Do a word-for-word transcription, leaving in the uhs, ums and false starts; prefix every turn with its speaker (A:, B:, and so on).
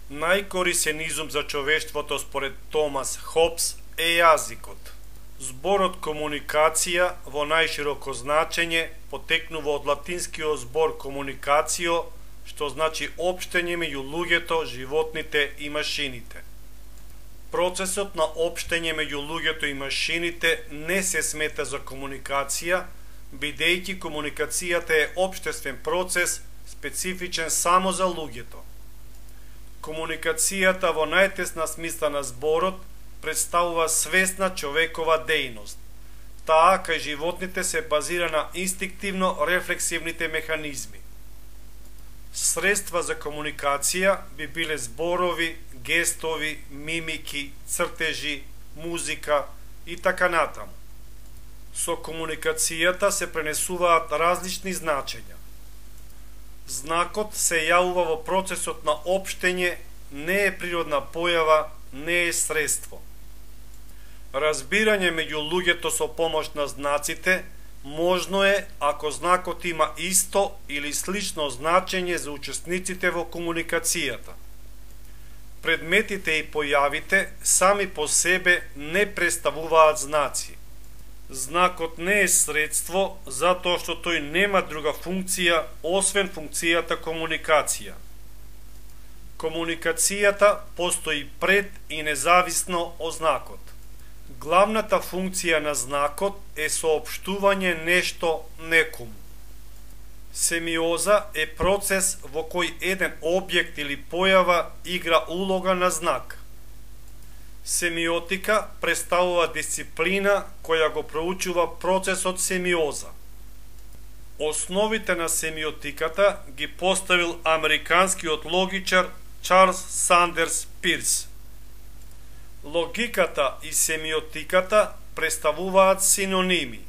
A: Најкорисен изум за човештвото според Томас Хобс е јазикот. Зборот комуникација во најшироко значење потекнува од латинскиот збор комуникацијо, што значи општење меѓу луѓето, животните и машините. Процесот на општење меѓу луѓето и машините не се смета за комуникација, бидејќи комуникацијата е општествен процес, специфичен само за луѓето. Комуникацијата во најтесна смисла на зборот представува свесна човекова дејност. Таа кај животните се базира на инстинктивно-рефлексивните механизми. Средства за комуникација би биле зборови, гестови, мимики, цртежи, музика и така натаму. Со комуникацијата се пренесуваат различни значења. Знакот се јавува во процесот на општење, не е природна појава, не е средство. Разбирање меѓу луѓето со помош на знаците можно е ако знакот има исто или слично значење за учесниците во комуникацијата. Предметите и појавите сами по себе не представуваат знаци. Знакот не е средство затоа што тој нема друга функција освен функцијата комуникација. Комуникацијата постои пред и независно од знакот. Главната функција на знакот е соопштување нешто некому. Семиоза е процес во кој еден објект или појава игра улога на знак. Семиотика представува дисциплина која го проучува процесот семиоза. Основите на семиотиката ги поставил американскиот логичар Чарлс Сандерс Пирс. Логиката и семиотиката представуваат синоними.